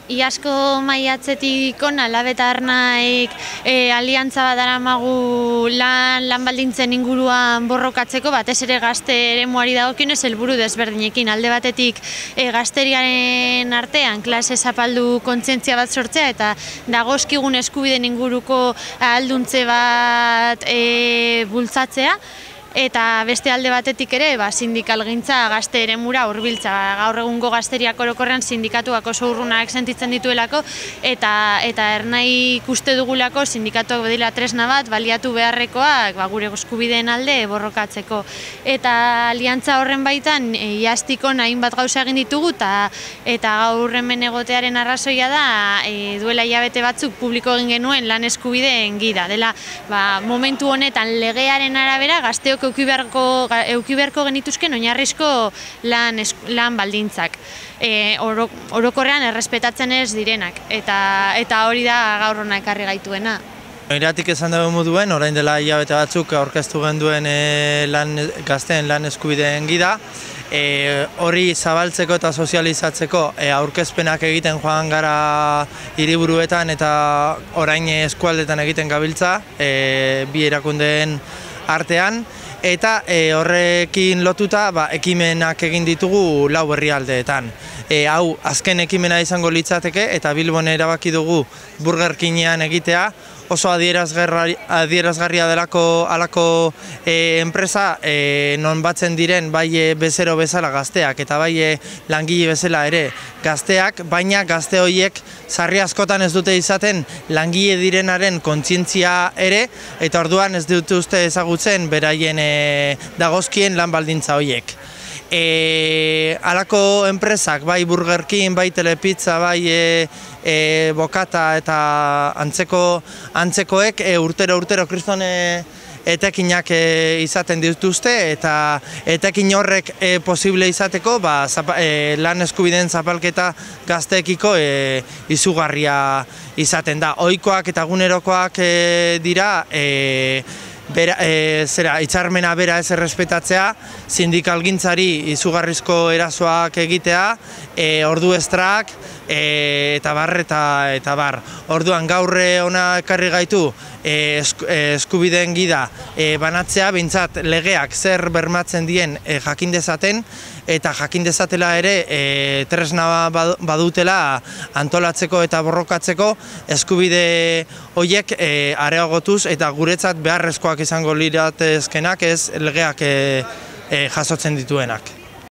Iasko maiatzetik ona Labetarnaik aliantza bat daramagu lan baldintzen inguruan borrokatzeko, batez ere gazte eremuari dagokionez helburu desberdinekin. Alde batetik gazteriaren artean klase zapaldu kontzientzia bat sortzea eta dagozkigun eskubideen inguruko ahalduntze bat bultzatzea. Eta beste alde batetik ere, sindikalgintza gazte eremura hurbiltza. Gaur egungo gazteriak orokorrean sindikatuak oso urrunak sentitzen dituelako eta ernai ikuste dugulako sindikatuak badira tresna bat baliatu beharrekoak gure eskubideen alde borrokatzeko. Eta aliantza horren baitan iaztiko hainbat gauza egin ditugu eta gaur hemen egotearen arrazoia da duela hilabete batzuk publiko egin genuen lan eskubideen gida. Dela momentu honetan legearen arabera gazteok euki beharko genituzken oinarrizko lan baldintzak. Orokorrean errespetatzen ez direnak, eta hori da gaur hona ekarri gaituena. Iratik esan dugu moduen, orain dela hilabete batzuk aurkeztu genduen gazteen lan eskubideen gida. Hori zabaltzeko eta sozializatzeko aurkezpenak egiten joan gara hiriburuetan eta orain eskualdetan egiten gabiltza, bi erakundeen artean. Eta horrekin lotuta ekimenak egin ditugu 4 herrialdeetan. Hau azken ekimena izango litzateke eta Bilbon erabaki dugu Burger Kingean egitea. Oso adierazgarria delako halako enpresa non batzen diren bai bezero bezala gazteak eta bai langile bezala ere gazteak, baina gazte horiek sarri askotan ez dute izaten langile direnaren kontzientzia ere eta orduan ez dute uste ezagutzen beraien dagozkien lan baldintza horiek. Halako enpresak, bai Burger King, bai Telepizza, bai Bokata eta antzekoek urtero kriston etekinak izaten dituzte eta etekin horrek posible izateko lan eskubideen zapalketa gazteekiko izugarria izaten da. Ohikoak eta egunerokoak dira hitzarmena bera ez errespetatzea, sindikalgintzari izugarrizko erasoak egitea, ordu estrak, eta bar. Orduan gaur hona ekarri gaitu eskubideen gida banatzea, behintzat legeak zer bermatzen dien jakin dezaten, eta jakin dezatela ere tresna badutela antolatzeko eta borrokatzeko eskubide horiek areagotuz eta guretzat beharrezkoak izango liratezkenak ez legeak jasotzen dituenak.